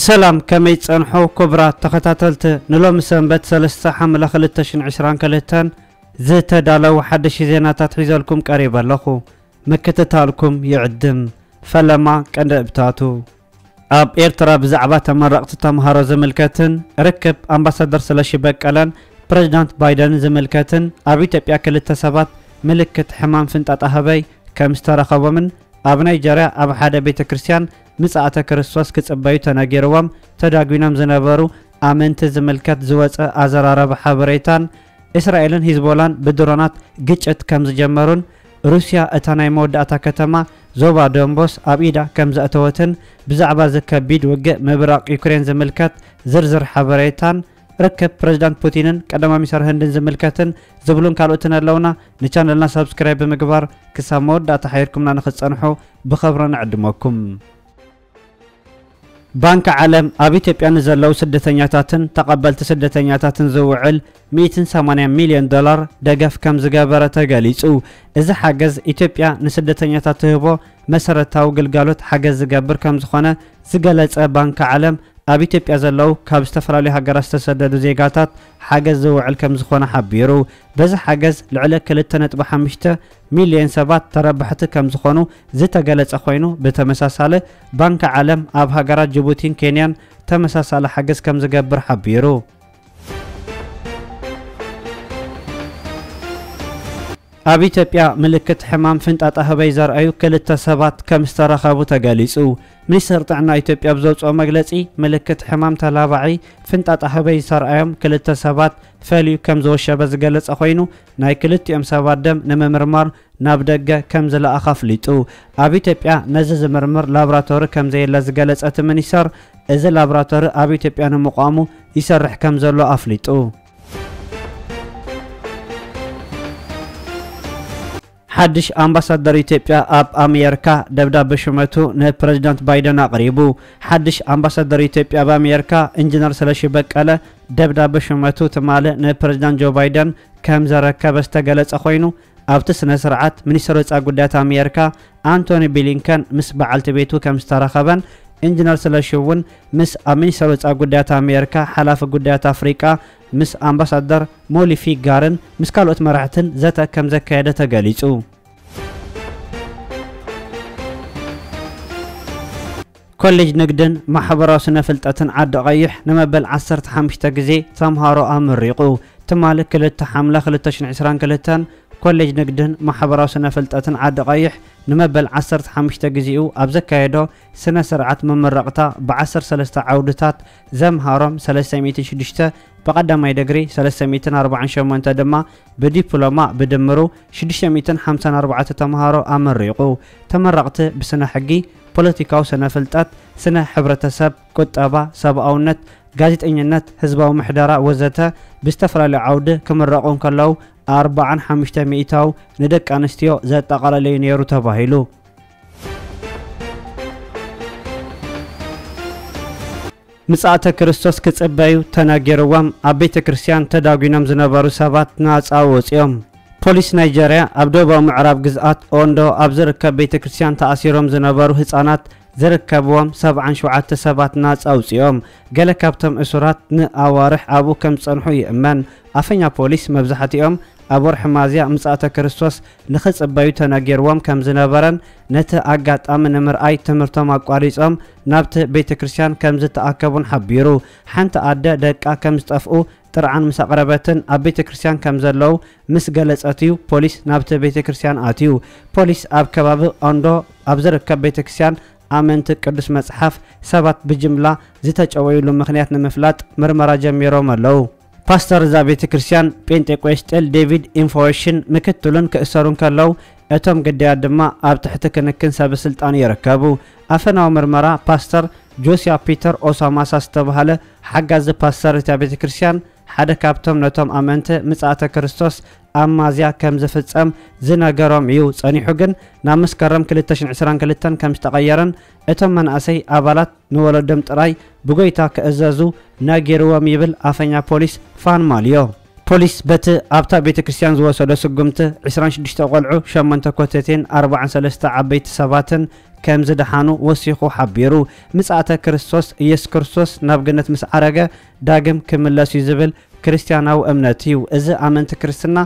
ሰላም፣ ከመይ ጸንሑ ክቡራት ተኸታተልቲ? ንሎሚ ሰንበት ሰለስተ ሓምለ ክልተ ሽሕን ዕስራን ክልተን ዝተዳለዉ ሓደሽቲ ዜናታት ሒዘልኩም ቀሪበ ኣለኹ። ምክትታልኩም ይዕድም። ፈለማ ቀንዲ እብታቱ። ኣብ ኤርትራ ብዛዕባ ተመረቕቲ ተምሃሮ ዝምልከትን ርክብ ኣምባሳደር ስለሺ በቀለን ፕሬዚዳንት ባይደንን ዝምልከትን ኣብ ኢትዮጵያ ክልተ ሰባት ምልክት ሕማም ፍንጣጣ ህበይ ከም ዝተረኸቦምን ኣብ ናይጀርያ ኣብ ሓደ ቤተ ክርስቲያን ምጽኣተ ክርስቶስ ክጽበዩ ተነጊርዎም ተዳጒኖም ዝነበሩ ኣመንቲ ዝምልከት ዝወጸ ኣዘራረቢ ሓበሬታን እስራኤልን ሂዝቦላን ብድሮናት ግጭት ከም ዝጀመሩን ሩስያ እታ ናይ መወዳእታ ከተማ ዞባ ዶንቦስ ኣብ ኢዳ ከም ዘእተወትን ብዛዕባ እዚ ከቢድ ውግእ ምብራቕ ዩክሬን ዝምልከት ዝርዝር ሓበሬታን ርክብ ፕሬዚዳንት ፑቲንን ቀዳማይ ሚኒስተር ህንድን ዝምልከትን ዝብሉን ካልኦትን ኣለውና። ንቻነልና ሳብስክራይብ ብምግባር ክሳብ መወዳእታ ሓይርኩምና ንኽትጸንሑ ብኸብሪ ንዕድመኩም። ባንኪ ዓለም ኣብ ኢትዮጵያ ንዘለዉ ስደተኛታትን ተቐበልቲ ስደተኛታትን ዝውዕል ሚእትን ሰማንያን ሚልዮን ዶላር ደገፍ ከም ዝገበረ ተገሊጹ። እዚ ሓገዝ ኢትዮጵያ ንስደተኛታት ትህቦ መሰረታዊ ግልጋሎት ሓገዝ ዝገብር ከም ዝኾነ ዝገለጸ ባንኪ ዓለም፣ ኣብ ኢትዮጵያ ዘለዉ ካብ ዝተፈላለዩ ሃገራት ዝተሰደዱ ዜጋታት ሓገዝ ዝውዕል ከም ዝኾነ ሓቢሩ። በዚ ሓገዝ ልዕሊ ክልተ ነጥቢ ሓሙሽተ ሚልዮን ሰባት ተረባሕቲ ከም ዝኾኑ ዝተገለጸ ኮይኑ፣ ብተመሳሳሊ ባንኪ ዓለም ኣብ ሃገራት ጅቡቲን ኬንያን ተመሳሳሊ ሓገዝ ከም ዝገብር ሓቢሩ። ኣብ ኢትዮጵያ ምልክት ሕማም ፍንጣጣ ህበይ ዘርኣዩ ክልተ ሰባት ከም ዝተረኸቡ ተገሊጹ። ሚኒስተር ጥዕና ኢትዮጵያ ኣብ ዘውጽኦ መግለጺ፣ ምልክት ሕማም ተላባዒ ፍንጣጣ ህበይ ዝተርኣዮም ክልተ ሰባት ፈልዩ ከም ዝወሸበ ዝገለጸ ኮይኑ፣ ናይ ክልቲኦም ሰባት ደም ንምምርማር ናብ ደገ ከም ዝለኣኸ ኣፍሊጡ። ኣብ ኢትዮጵያ ነዚ ዝምርምር ላቦራቶሪ ከም ዘየለ ዝገለጸ እቲ ሚኒስተር፣ እዚ ላቦራቶሪ ኣብ ኢትዮጵያ ንምቋሙ ይሰርሕ ከም ዘሎ ኣፍሊጡ። ሓድሽ ኣምባሳደር ኢትዮጵያ ኣብ ኣሜሪካ ደብዳበ ሹመቱ ንፕሬዚዳንት ባይደን ኣቕሪቡ። ሓድሽ ኣምባሳደር ኢትዮጵያ ኣብ ኣሜሪካ ኢንጂነር ስለሺ በቀለ ደብዳበ ሹመቱ ትማሊ ንፕሬዚዳንት ጆ ባይደን ከም ዘረከበ ዝተገለጸ ኮይኑ፣ ኣብቲ ስነ ስርዓት ሚኒስትር ወጻኢ ጉዳያት ኣሜሪካ ኣንቶኒ ብሊንከን ምስ በዓልቲ ቤቱ ከም ዝተረኸበን ኢንጂነር ስለሺ እውን ምስ ኣብ ሚኒስትር ወጻኢ ጉዳያት ኣሜሪካ ሓላፊ ጉዳያት ኣፍሪቃ ምስ ኣምባሳደር ሞሊፊ ጋርን ምስ ካልኦት መራሕትን ዘተ ከም ዘካየደ ተገሊጹ። ኮሌጅ ንግድን ማሕበራዊ ስነ ፍልጠትን ዓዲ ቀይሕ ንመበል ዓሰርተ ሓሙሽተ ግዜ ተምሃሮ ኣመሪቑ። ትማሊ ክልተ ሓምለ ክልተ ሽሕን ዕስራን ክልተን ኮሌጅ ንግድን ማሕበራዊ ስነ ፍልጠትን ዓዲ ቀይሕ ንመበል ዓሰርተ ሓሙሽተ ግዜኡ ኣብ ዘካየዶ ስነ ስርዓት መመረቕታ ብዓሰርተ ሰለስተ ዓውድታት ዘምሃሮም ሰለስተ ሚእትን ሽዱሽተ፣ ብቐዳማይ ዲግሪ ሰለስተ ሚእትን ኣርባዓን ሸሞንተ ድማ ብዲፕሎማ ብድምሩ ሽዱሽተ ሚእትን ሓምሳን ኣርባዕተ ተምሃሮ ኣመሪቑ። ተመረቕቲ ብስነ ሕጊ፣ ፖለቲካዊ ስነ ፍልጠት፣ ስነ ሕብረተሰብ፣ ቁጠባ፣ ሰብኣውነት፣ ጋዜጠኝነት፣ ህዝባዊ ምሕደራ ወዘተ ብዝተፈላለዩ ዓውዲ ክምረቑ እንከለዉ ኣርባዓን ሓሙሽተ ሚእታዊ ንደቂ ኣንስትዮ ዘጠቓለለዩ ነይሩ ተባሂሉ። ምጽኣተ ክርስቶስ ክጽበዩ ተነጊርዎም ኣብ ቤተ ክርስቲያን ተዳጒኖም ዝነበሩ ሰባት ናጻ ወጺኦም። ፖሊስ ናይጀርያ ኣብ ደቡባዊ ምዕራብ ግዝኣት ኦንዶ ኣብ ዝርከብ ቤተ ክርስቲያን ተኣሲሮም ዝነበሩ ህጻናት ዝርከብዎም ሰብዓን ሸውዓተ ሰባት ናጻ ኣውጺኦም። ገለ ካብቶም እሱራት ንኣዋርሕ ኣብኡ ከም ዝጸንሑ ይእመን። ኣፈኛ ፖሊስ መብዛሕትኦም ኣብ ወርሒ ሚያዝያ ምጽኣተ ክርስቶስ ንኽጽበዩ ተነጊርዎም ከም ዝነበረን ነቲ ኣጋጣሚ ንምርኣይ ትምህርቶም ኣቋሪጾም ናብቲ ቤተ ክርስቲያን ከም ዝተኣከቡን ሓቢሩ። ሓንቲ ኣደ ደቃ ከም ዝጠፍኡ ጥርዓን ምስ ኣቕረበትን ኣብ ቤተ ክርስቲያን ከም ዘለዉ ምስ ገለጸት እዩ ፖሊስ ናብቲ ቤተ ክርስቲያን ኣትዩ። ፖሊስ ኣብ ከባቢ ኦንዶ ኣብ ዝርከብ ቤተ ክርስቲያን ኣመንቲ ቅዱስ መጽሓፍ ሰባት ብጅምላ ዝተጨወዩሉ ምኽንያት ንምፍላጥ ምርመራ ጀሚሮም ኣለዉ። ፓስተር እዛ ቤተ ክርስቲያን ጴንጤቆስጤል ዴቪድ ኢንፎሽን ምክትሉን ክእሰሩ እንከለዉ እቶም ግዳያት ድማ ኣብ ትሕቲ ክንክን ሰበ ስልጣን ይርከቡ። ኣፈናዊ ምርመራ ፓስተር ጆሲያ ፒተር ኦሳማሳ ዝተባህለ ሓጋዚ ፓስተር እታ ቤተ ክርስቲያን ሓደ ካብቶም ነቶም ኣመንቲ ምጽኣተ ክርስቶስ ኣብ ሚያዝያ ከም ዝፍጸም ዝነገሮም እዩ። ጸኒሑ ግን ናብ መስከረም ክልተ ሽሕን ዕስራን ክልተን ከም ዝተቐየረን እቶም መናእሰይ ኣባላት ንወለዶም ጥራይ ብጎይታ ክእዘዙ ነጊርዎም ይብል ኣፈኛ ፖሊስ ፋን ማልዮ። ፖሊስ በቲ ኣብታ ቤተ ክርስቲያን ዝወሰዶ ስጉምቲ ዕስራን ሽዱሽተ ቆልዑ፣ ሸሞንተ ኮተቴን ኣርባዓን ሰለስተ ዓበይቲ ሰባትን ከም ዝደሓኑ ወሲኹ ሓቢሩ። ምጽኣተ ክርስቶስ፣ ኢየሱስ ክርስቶስ ናብ ገነት ምስ ዓረገ ዳግም ክምለስ እዩ ዝብል ክርስትያናዊ እምነት እዩ። እዚ ኣመንቲ ክርስትና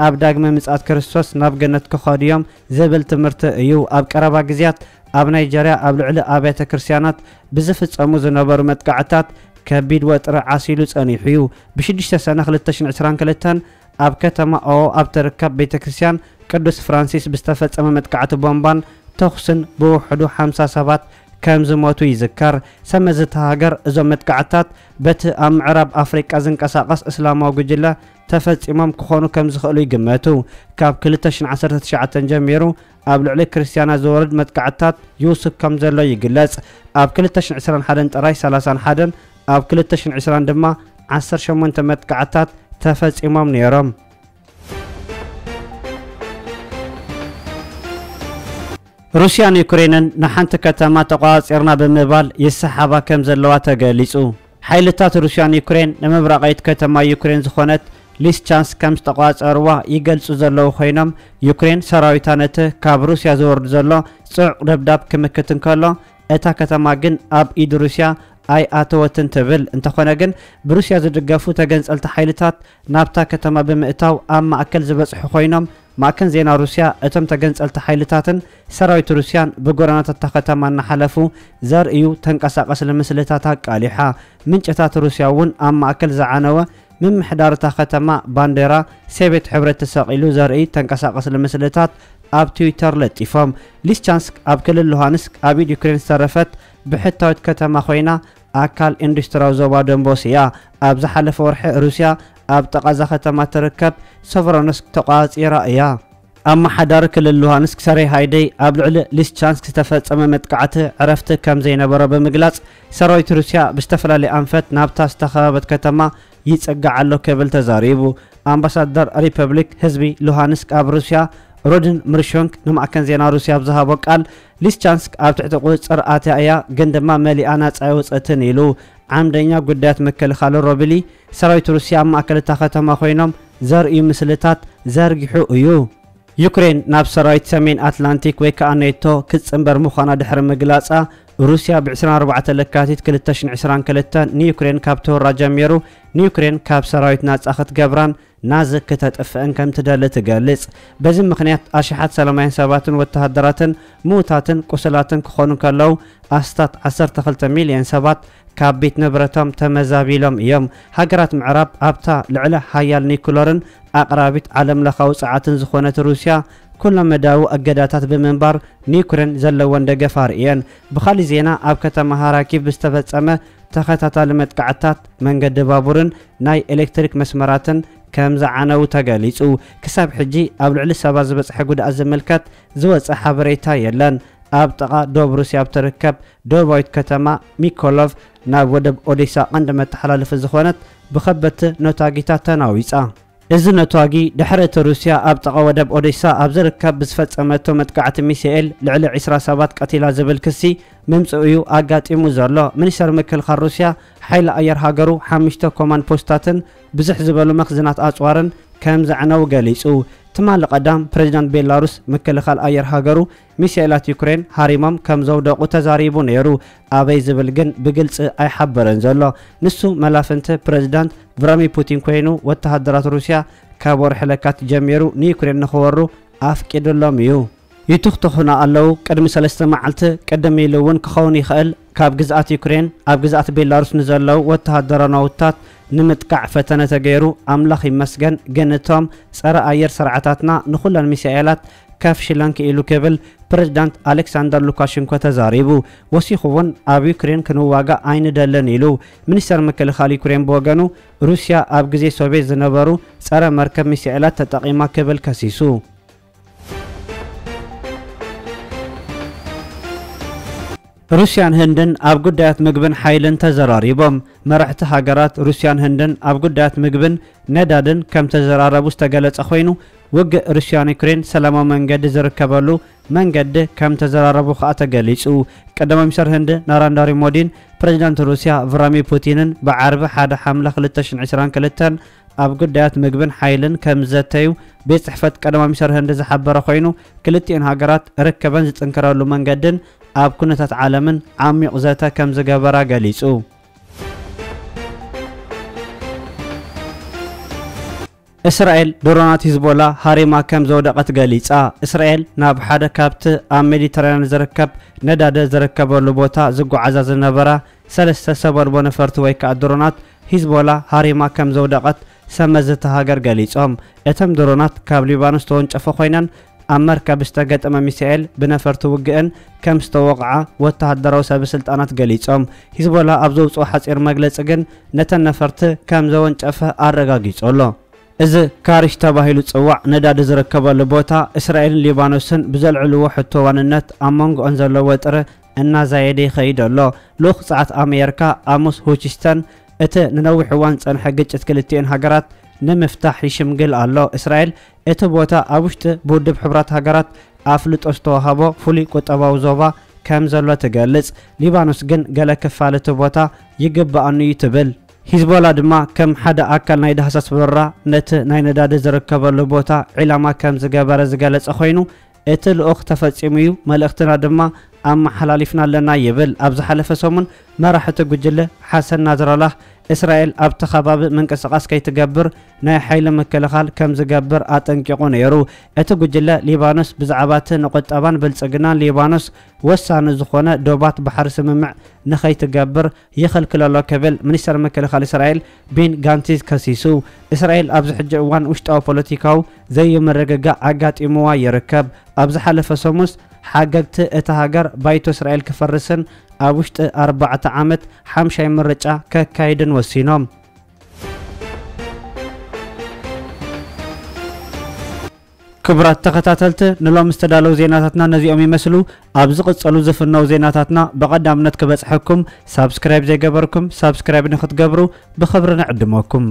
ኣብ ዳግመ ምጽኣት ክርስቶስ ናብ ገነት ክኸዱ እዮም ዝብል ትምህርቲ እዩ። ኣብ ቀረባ ግዜያት ኣብ ናይጀርያ ኣብ ልዕሊ ኣብያተ ክርስትያናት ብዝፍጸሙ ዝነበሩ መጥቃዕትታት ከቢድ ወጥሪ ዓሲሉ ጸኒሑ እዩ። ብ ሽዱሽተ ሰነ ክልተ ሽሕን ዕስራን ክልተን ኣብ ከተማ ኦዎ ኣብ ትርከብ ቤተ ክርስትያን ቅዱስ ፍራንሲስ ብዝተፈጸመ መጥቃዕቲ ቦምባን ተኹስን ብውሕዱ ሓምሳ ሰባት ከም ዝሞቱ ይዝከር። ሰብ መዚ እታ ሃገር እዞም መጥቃዕትታት በቲ ኣብ ምዕራብ ኣፍሪቃ ዝንቀሳቐስ እስላማዊ ጉጅለ ተፈጺሞም ክኾኑ ከም ዝኽእሉ ይግመቱ። ካብ ክልተ ሽሕን ዓሰርተ ትሽዓተን ጀሚሩ ኣብ ልዕሊ ክርስትያናት ዝወርድ መጥቃዕትታት ይውስኽ ከም ዘሎ ይግለጽ። ኣብ ክልተ ሽሕን ዕስራን ሓደን ጥራይ ሰላሳን ሓደን፣ ኣብ ክልተ ሽሕን ዕስራን ድማ ዓሰርተ ሸሞንተ መጥቃዕትታት ተፈጺሞም ነይሮም። ሩስያን ዩክሬንን ንሓንቲ ከተማ ተቆጻጺርና ብምባል ይሰሓባ ከም ዘለዋ ተገሊጹ። ሓይልታት ሩስያን ዩክሬን ንምብራቓዊት ከተማ ዩክሬን ዝኾነት ሊስቻንስክ ከም ዝተቆጻጸርዋ ይገልጹ ዘለዉ ኮይኖም፣ ዩክሬን ሰራዊታ ነቲ ካብ ሩስያ ዝወርድ ዘሎ ጽዑቕ ደብዳብ ክምክት እንከሎ፣ እታ ከተማ ግን ኣብ ኢድ ሩስያ ኣይኣተወትን ትብል። እንተኾነ ግን፣ ብሩስያ ዝድገፉ ተገንጸልቲ ሓይልታት ናብታ ከተማ ብምእታው ኣብ ማእከል ዝበጽሑ ኮይኖም፣ ማእከን ዜና ሩስያ እቶም ተገንጸልቲ ሓይልታትን ሰራዊት ሩስያን ብጎደናታት እታ ከተማ እናሓለፉ ዘርእዩ ተንቀሳቐሲ ምስልታት ኣቃሊሓ። ምንጭታት ሩስያ እውን ኣብ ማእከል ዝዓነወ ምምሕዳር እታ ከተማ ባንዴራ ሶቬት ሕብረት ተሰቒሉ ዘርኢ ተንቀሳቐሲ ምስልታት ኣብ ትዊተር ለጢፎም። ሊስቻንስክ ኣብ ክልል ሉሃንስክ ኣብ ኢድ ዩክሬን ዝተረፈት ብሕታዊት ከተማ ኮይና፣ ኣካል ኢንዱስትሪያዊ ዞባ ዶንቦስ እያ። ኣብ ዝሓለፈ ወርሒ ሩስያ ኣብ ጥቓ እዛ ከተማ ትርከብ ሶቨሮንስክ ተቆጻጺራ እያ። ኣመሓዳሪ ክልል ሉሃንስክ ሰሬ ሃይደይ ኣብ ልዕሊ ሊስቻንስክ ዝተፈጸመ መጥቃዕቲ ዕረፍቲ ከም ዘይነበሮ ብምግላጽ፣ ሰራዊት ሩስያ ብዝተፈላለየ ኣንፈት ናብታ ዝተኸበበት ከተማ ይጽጋዕ ኣሎ ክብል ተዛሪቡ። ኣምባሳደር ሪፐብሊክ ህዝቢ ሉሃንስክ ኣብ ሩስያ ሮድን ምርሾንክ ንማዕከን ዜና ሩስያ ኣብ ዝሃቦ ቃል፣ ሊስቻንስክ ኣብ ትሕቲ ቁጽጽር ኣትያ እያ፣ ግን ድማ መሊኣ ናጻ ኣይወጸትን ኢሉ። ዓምደኛ ጉዳያት ምክልኻል ሮብሊ፣ ሰራዊት ሩስያ ኣብ ማእከል እታ ከተማ ኮይኖም ዘርእዩ ምስልታት ዘርጊሑ እዩ። ዩክሬን ናብ ሰራዊት ሰሜን ኣትላንቲክ ወይ ከኣ ኔቶ ክትጽንበር ምዃና ድሕሪ ምግላጻ፣ ሩስያ ብ ዕስራን ኣርባዕተን ለካቲት ክልተ ሽሕን ዕስራን ክልተን ንዩክሬን ካብ ተወራ ጀሚሩ፣ ንዩክሬን ካብ ሰራዊት ናጻ ክትገብራን ናዚ ክተጥፍእን ከም ትደሊ ትገልጽ። በዚ ምኽንያት ኣሽሓት ሰላማውያን ሰባትን ወተሃደራትን ምዉታትን ቁስላትን ክኾኑ ከለዉ፣ ኣስታት ዓሰርተ ክልተ ሚልዮን ሰባት ካብ ቤት ንብረቶም ተመዛቢሎም እዮም። ሃገራት ምዕራብ ኣብታ ልዕለ ሓያል ኒኩለርን ኣቕራቢት ዓለምለኻዊ ጸዓትን ዝኾነት ሩስያ፣ ኩለ መዳያዊ እገዳታት ብምንባር ንዩክሬን ዘለወን ደገፍ ኣርእየን። ብኻልእ ዜና፣ ኣብ ከተማ ሃራኪቭ ብዝተፈጸመ ተኸታታሊ መጥቃዕትታት፣ መንገዲ ባቡርን ናይ ኤሌክትሪክ መስመራትን ከም ዝዓነዉ ተገሊጹ። ክሳብ ሕጂ ኣብ ልዕሊ ሰባ ዝበጽሐ ጉድኣት ዝምልከት ዝወጸ ሓበሬታ የለን። ኣብ ጥቓ ዶብ ሩስያ ኣብ ትርከብ ዶባዊት ከተማ ሚኮሎቭ፣ ናብ ወደብ ኦዴሳ ቀንዲ መተሓላለፊ ዝኾነት ብኸበድቲ ነታጊታት ተናዊጻ። እዚ ነታጊ፣ ድሕሪ እቲ ሩስያ ኣብ ጥቓ ወደብ ኦዴሳ ኣብ ዝርከብ ብዝፈጸመቶ መጥቃዕቲ ሚሳኤል ልዕሊ ዕስራ ሰባት ቀቲላ ዝብል ክሲ ምምጽኡ እዩ ኣጋጢሙ ዘሎ። ሚኒስተር ምክልኻል ሩስያ፣ ሓይሊ ኣየር ሃገሩ ሓሙሽተ ኮማንድ ፖስታትን ብዝሕ ዝበሉ መኽዝናት ኣጽዋርን ከም ዘዕነዉ ገሊጹ። ትማሊ ቀዳም፣ ፕሬዚዳንት ቤላሩስ ምክልኻል ኣየር ሃገሩ ሚሳኤላት ዩክሬን ሃሪሞም ከም ዘውደቑ ተዛሪቡ ነይሩ። ኣበይ ዝብል ግን ብግልጺ ኣይሓበረን ዘሎ። ንሱ መላፍንቲ ፕሬዚዳንት ቭላድሚር ፑቲን ኮይኑ፣ ወተሃደራት ሩስያ ካብ ወርሒ ለካቲት ጀሚሩ ንዩክሬን ንኽወሩ ኣፍቂዱሎም እዩ። ይትኽትኹና ኣለዉ። ቅድሚ ሰለስተ መዓልቲ፣ ቅድም ኢሉ እውን ክኸውን ይኽእል፣ ካብ ግዝኣት ዩክሬን ኣብ ግዝኣት ቤላሩስ ንዘለዉ ወተሃደራዊ ናውትታት ንምጥቃዕ ፈተነ ተገይሩ፣ ኣምላኽ ይመስገን፣ ግን እቶም ጸረ ኣየር ስርዓታትና ንኹለን ሚሳኤላት ከፍሽለን ክኢሉ ክብል ፕሬዚዳንት ኣሌክሳንደር ሉካሸንኮ ተዛሪቡ። ወሲኹ እውን፣ ኣብ ዩክሬን ክንዋጋእ ኣይንደልን ኢሉ። ሚኒስተር ምክልኻል ዩክሬን ብወገኑ፣ ሩስያ ኣብ ግዜ ሶቭየት ዝነበሩ ጸረ መርከብ ሚሳኤላት ተጠቒማ ክብል ከሲሱ። ሩስያን ህንድን ኣብ ጉዳያት ምግብን ሓይልን ተዘራሪቦም። መራሕቲ ሃገራት ሩስያን ህንድን ኣብ ጉዳያት ምግብን ነዳድን ከም ተዘራረቡ ዝተገለጸ ኮይኑ፣ ውግእ ሩስያን ዩክሬን ሰላማዊ መንገዲ ዝርከበሉ መንገዲ ከም ተዘራረቡ ከኣ ተገሊጹ። ቀዳማይ ሚኒስተር ህንዲ ናራንዳሪ ሞዲን ፕሬዚዳንት ሩስያ ቭላድሚር ፑቲንን ብዓርቢ ሓደ ሓምለ ክልተ ሽሕን ዕስራን ክልተን ኣብ ጉዳያት ምግብን ሓይልን ከም ዝዘተዩ ቤት ጽሕፈት ቀዳማይ ሚኒስትር ህንዲ ዝሓበረ ኮይኑ፣ ክልቲኤን ሃገራት ርከበን ዝጥንክረሉ መንገድን ኣብ ኩነታት ዓለምን ዓሚቕ ዘተ ከም ዝገበራ ገሊጹ። እስራኤል ድሮናት ሂዝቦላ ሃሪማ ከም ዘውደቐት ገሊጻ። እስራኤል ናብ ሓደ ካብቲ ኣብ ሜዲተራንያን ዝርከብ ነዳዲ ዝርከበሉ ቦታ ዝጓዓዛ ዝነበራ ሰለስተ ሰብ ኣልቦ ነፈርቲ ወይ ከኣ ድሮናት ሂዝቦላ ሃሪማ ከም ዘውደቐት ሰመዝቲ ሃገር ገሊጾም። እተን ድሮናት ካብ ሊባኖስ ተወንጨፈ ኮይነን ኣብ መርከብ ዝተገጠመ ሚሳኤል ብነፈርቲ ውግእን ከም ዝተወቕዓ ወተሃደራዊ ሰበስልጣናት ገሊጾም። ሂዝቦላ ኣብ ዘውጽኦ ሓጺር መግለጺ ግን ነተን ነፈርቲ ከም ዘወንጨፈ ኣረጋጊጹ ኣሎ። እዚ ካሪሽ ተባሂሉ ዝጽዋዕ ነዳዲ ዝርከበሉ ቦታ እስራኤልን ሊባኖስን ብዘልዕልዎ ሕቶ ዋንነት ኣብ መንጎኦን ዘሎ ወጥሪ እናዛየደ ይኸይድ ኣሎ። ልኡኽ ጸዓት ኣሜሪካ ኣሞስ ሆችስተን እቲ ንነዊሕ እዋን ዝጸንሐ ግጭት ክልቲኤን ሃገራት ንምፍታሕ ይሽምግል ኣሎ። እስራኤል እቲ ቦታ ኣብ ውሽጢ ብውድብ ሕቡራት ሃገራት ኣፍልጦ ዝተዋህቦ ፍሉይ ቁጠባዊ ዞባ ከም ዘሎ ትገልጽ። ሊባኖስ ግን ገለ ክፋል እቲ ቦታ ይግብኣኒ እዩ ትብል። ሂዝቦላ ድማ ከም ሓደ ኣካል ናይ ዳህሳስ በረራ ነቲ ናይ ነዳዲ ዝርከበሉ ቦታ ዒላማ ከም ዝገበረ ዝገለጸ ኮይኑ፣ እቲ ልኡኽ ተፈጺሙ እዩ፣ መልእኽትና ድማ ኣመሓላሊፍና ኣለና ይብል። ኣብ ዝሓለፈ ሰሙን መራሒ እቲ ጉጅለ ሓሰን ናስራላህ እስራኤል ኣብቲ ከባቢ ምንቅስቓስ ከይትገብር ናይ ሓይሊ ምክልኻል ከም ዝገብር ኣጠንቂቑ ነይሩ። እቲ ጉጅለ ሊባኖስ ብዛዕባ እቲ ንቁጠባን ብልጽግናን ሊባኖስ ወሳኒ ዝኾነ ዶባት ባሕሪ ስምምዕ ንኸይትገብር ይኽልክል ኣሎ ክብል ሚኒስተር ምክልኻል እስራኤል ቤን ጋንትዝ ከሲሱ። እስራኤል ኣብዚ ሕጂ እዋን ውሽጣዊ ፖለቲካዊ ዘይምርግጋእ ኣጋጢምዋ ይርከብ። ኣብ ዝሓለፈ ሰሙንስ ሓገግቲ እታ ሃገር ባይቶ እስራኤል ክፈርስን ኣብ ውሽጢ ኣርባዕተ ዓመት ሓምሻይ ምርጫ ከካይድን ወሲኖም። ክቡራት ተኸታተልቲ፣ ንሎም ዝተዳለዉ ዜናታትና ነዚኦም ይመስሉ። ኣብ ዝቕጸሉ ዝፍነው ዜናታትና ብቐዳምነት ክበጽሐኩም ሳብስክራይብ ዘይገበርኩም ሳብስክራይብ ንክትገብሩ ብኽብሪ ንዕድመኩም።